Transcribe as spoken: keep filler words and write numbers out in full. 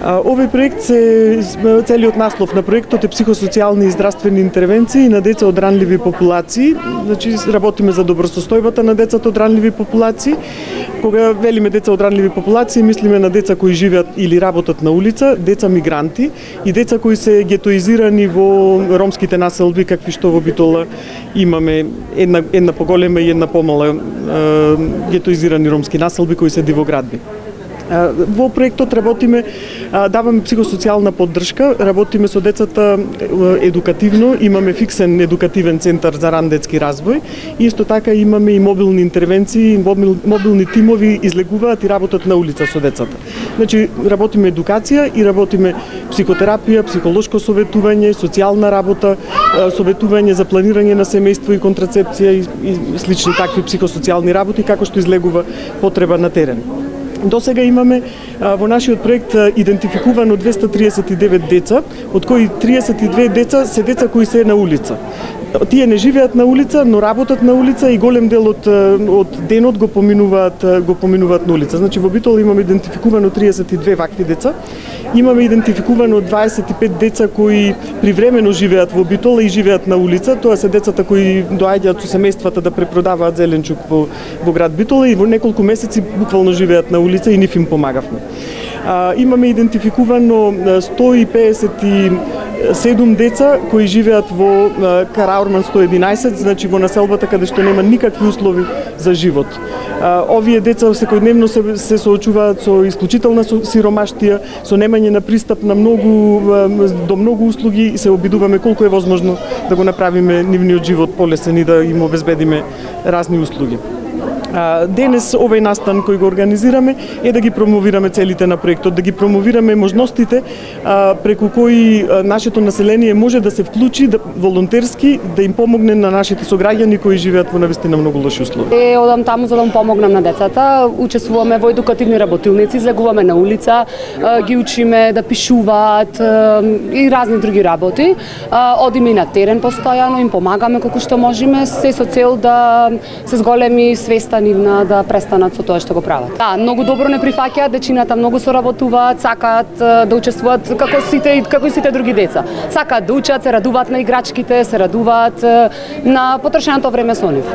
Овој проект се целиот наслов на проектот е психосоцијални и здравствени интервенции на деца од ранливи популации. Значи работиме за добросостојбата на децата од ранливи популации. Кога велиме деца од ранливи популации, мислиме на деца кои живеат или работат на улица, деца мигранти и деца кои се гетоизирани во ромските населби, какви што во Битола имаме една една поголема и една помала гетоизирани ромски населби кои се дивоградби. Во проектот работиме, даваме психосоцијална поддршка, работиме со децата едукативно, имаме фиксен едукативен центар за ран детски развој и исто така имаме и мобилни интервенции, мобил, мобилни тимови излегуваат и работат на улица со децата. Значи работиме едукација и работиме психотерапија, психолошко советување, социјална работа, советување за планирање на семејство и контрацепција и, и слични такви психосоцијални работи како што излегува потреба на терен. До сега имаме во нашиот проект идентификувано двеста триесет и девет деца, од кои триесет и две деца се деца кои се на улица. Тие не живеат на улица, но работат на улица и голем дел од, од денот го поминуваат го поминуваат на улица. Значи во Битола имаме идентификувано триесет и две вакви деца. Имаме идентификувано дваесет и пет деца кои привремено живеат во Битола и живеат на улица. Тоа се децата кои доаѓаат со семејствата да препродаваат зеленчук во, во град Битола и во неколку месеци буквално живеат на улица и нив им помагавме. А, имаме идентификувано сто и пеесет и седум деца кои живеат во Караурман сто и единаесет, значи во населбата каде што нема никакви услови за живот. А, овие деца секојдневно се, се соочуваат со исклучителна сиромаштија, со немање на пристап на многу до многу услуги и се обидуваме колку е возможно да го направиме нивниот живот полесен и да им обезбедиме разни услуги. Денес овој настан кој го организираме е да ги промовираме целите на проектот, да ги промовираме можностите преку кои нашето население може да се вклучи да, волонтерски, да им помогне на нашите сограѓани кои живеат во навистина многу лоши услови. Е, одам таму за да помогнам на децата, учествуваме во едукативни работилници, излегуваме на улица, ги учиме да пишуваат и разни други работи. Одиме и на терен постојано, им помагаме колку што можеме, се со цел да се зголеми свеста нивна да престанат со тоа што го прават. Да, многу добро не прифаќаат, дечината многу соработуваат, сакаат да учествуваат како сите како и сите други деца. Сакаат да учат, се радуваат на играчките, се радуваат на потрошеното време со нив.